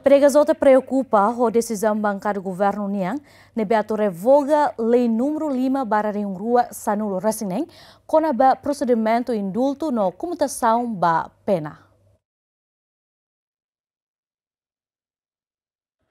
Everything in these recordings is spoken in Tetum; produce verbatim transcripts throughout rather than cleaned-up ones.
PDHJ preokupa ho desizaun bankada governu nian ne'ebé atu revoga lei númeru lima barra rihun rua sanulu resin neen kona-ba prosedimentu indultu no komutasaun ba pena.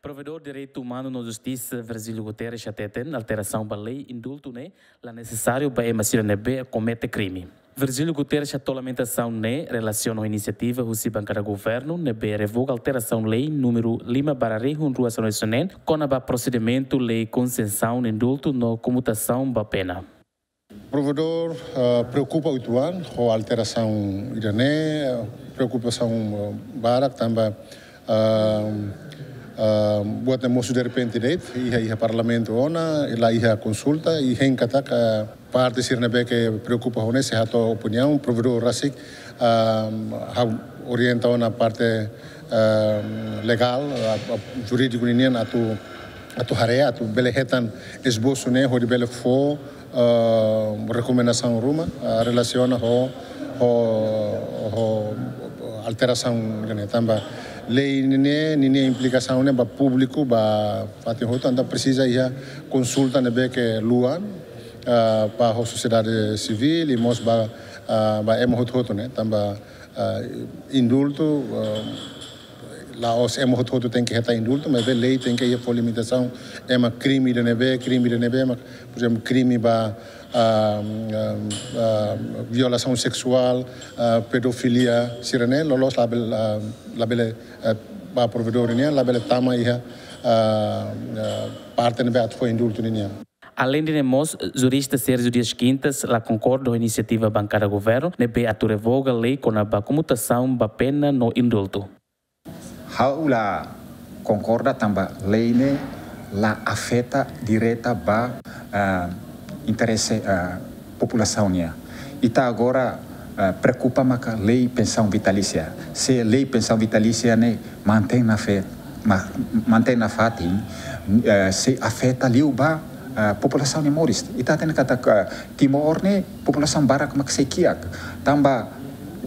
Provedór Direitu Umanu no Justisa Virgílio Guterres hateten alterasaun ba lei indultu ne'e la nesesáriu ba ema sira ne'ebé komete krime. Virgílio Guterres hato'o lamentasaun ne'e relasiona ho inisiativa husi bankada governu ne'ebé revoga alterasaun lei númeru lima barra rihun rua sanulu resin neen kona-ba prosedimentu lei konsesaun indultu no komutasaun ba pena. Provedór, ah, preokupa uitoan ho alterasaun ida-ne'e, preokupasaun, ah, barak tanba, ah, ah, buat ne'e mosu derrepente de'it, iha, iha parlamentu ona, i la iha konsulta, i hein katak, ah, parte sira ne'ebé ke preokupa ho ne'e sei hato'o opiniaun, provedór rasik, ah, ha'u orienta ona parte, ah, legál, ah, ah, jurídiku ninian atu, atu haree, atu bele hetan esbosu ne'e, hodi bele fó, ah, rekomendasaun ruma, ah, relasiona ho, ho, ho alterasaun ne'e tanba lei ne'e, ninia implikasaun ne'e ba públiku, ba fatin hotu, entaun presiza iha konsulta ne'ebé ke luan, ah, ba ho sosiedade sivíl, i mós ba, ah, ba ema hotu-hotu ne'e, tanba, ah, indultu, ah, la'ós ema hotu-hotu tenke hetan indultu, maibé lei tenke iha fó limitasaun, ema krime ida ne'ebé, krime ida ne'ebé, mak, por ezemplu, krime ba, ah, ah, ah, violasaun seksuál, ah, pedofilia, sira-ne'e, loloos labele, ah, labele, eh, ba provedór nian, labele tama iha, ah, ah, parte ne'ebé atu fó indultu ninian. Aleinde ne'e mós, jurista Sérgio Dias Quintas la konkorda ho inisiativa bankada governu ne'ebé atu revoga lei kona-ba komutasaun ba pena no indultu. Ha'u la konkorda tanba lei ne'e la afeta direta ba, ah, interese, ah, populasaun nian. Ita agora, ah, preokupa maka lei pensaun vitalísia. Se lei pensaun vitalísia ne'e mantein nafatin, ma-, mantein nafatin, eh, sei afeta liu ba, ah, populasaun nia moris. Ita hatene katak Timor ne'e populasaun barak mak sei kiak. Tanba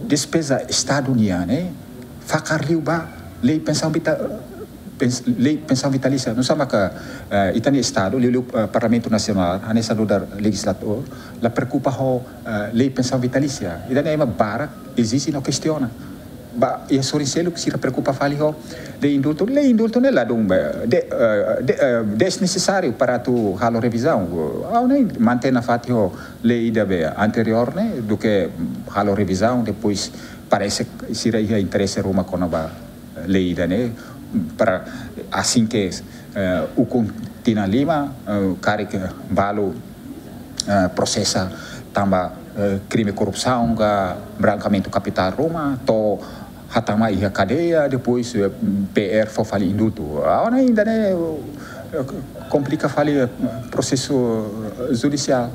despeza Estadu nian ne'e fakar liu ba lei pensaun vita-, pens-, lei pensaun vitalísia. Nusá maka, eh, ita-nia Estadu, liuliu, eh, Parlamentu Nasionál, hanesan nu'udar lejizladór, la preokupa ho, eh, lei pensaun vitalísia. Ita-nia ema barak ezije no kestiona. Ba, iha sorin seluk sira preokupa fali ho lei indultu, lei indultu ne'e ladún, eh, de-, eh, de-, eh, desnesesáriu para atu halo revizaun. Ha'u ne'e mantein nafatin ho lei ida be anteriór ne'e, duké halo revizaun, depois parese sira iha interese ruma kona-ba lei ida-ne'e, para asin ke, eh, ukun tinan lima, eh, karik balu, eh, prosesa tanba, eh, krime korrupsaun ka brankeamentu kapitál ruma, to'o hatama iha kadeia, depois, eh, P R fó fali indultu. Agora ainda, né, eh, komplika fali, eh, prosesu, eh, judisiál.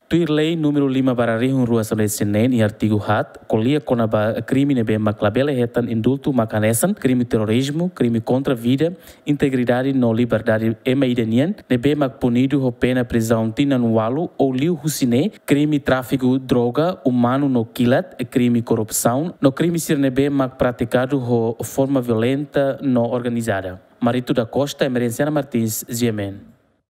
Tuir lei númeru lima barra rihun rua sanulu resin neen iha artigu haat, ko'alia kona-ba krime ne'ebé mak labele hetan indultu mak hanesan krime terrorizmu, krime kontra vida, integridade no liberdade ema ida nian, ne'ebé mak punidu ho pena prizaun tinan ualu ou liu husi ne'e, krime tráfiku droga umanu no kilat, krime korrupsaun, no krime sira ne'ebé mak pratikadu ho forma violenta no organizada. Marito da Costa, Emerenciana Martins, G M N.